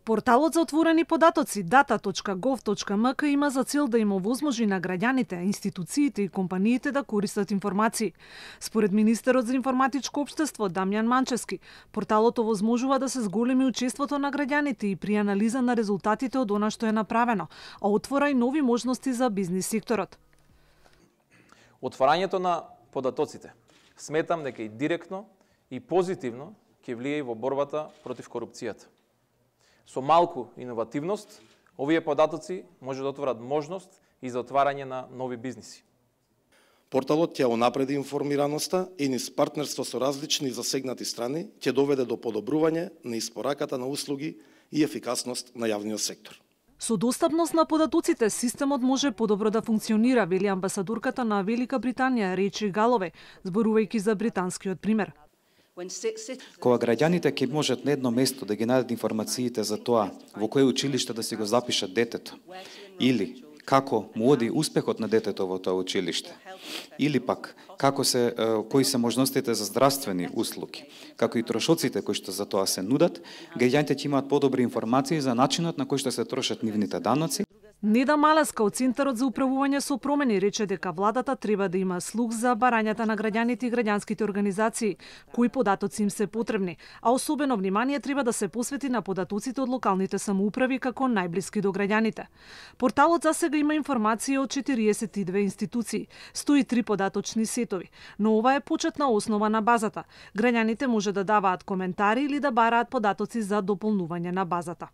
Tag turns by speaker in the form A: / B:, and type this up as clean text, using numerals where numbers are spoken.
A: Порталот за отворени податоци data.gov.mk има за цел да им овозможи на граѓаните, институциите и компаниите да користат информации. Според министерот за информатичко општество Дамјан Манчевски, порталот овозможува да се зголеми учеството на граѓаните и при анализа на резултатите од она што е направено, а отвора и нови можности за бизнис секторот.
B: Отварањето на податоците сметам дека и директно и позитивно ќе влие во борбата против корупцијата. Со малку иновативност, овие податоци може да отворат можност и за отварање на нови бизниси.
C: Порталот ќе унапреди информираноста и низ партнерство со различни засегнати страни ќе доведе до подобрување на испораката на услуги и ефикасност на јавниот сектор.
A: Со достапност на податоците, системот може подобро да функционира, вели амбасадорката на Велика Британија Речи Галове, зборувајќи за британскиот пример.
D: Кога граѓаните ќе можат на едно место да ги најдат информациите за тоа во кое училиште да си го запишат детето, или како му оди успехот на детето во тоа училиште, или пак кои се можностите за здравствени услуги, како и трошоците кои што за тоа се нудат, граѓаните ќе имаат подобри информации за начинот на кој што се трошат нивните даноци.
A: Неда Малеска од Центарот за управување со промени рече дека владата треба да има слух за барањата на граѓаните и граѓанските организации, кои податоци им се потребни, а особено внимание треба да се посвети на податоците од локалните самоуправи како најблиски до граѓаните. Порталот засега има информација од 42 институции, 103 податочни сетови, но ова е почетна основа на базата. Граѓаните може да даваат коментари или да бараат податоци за дополнување на базата.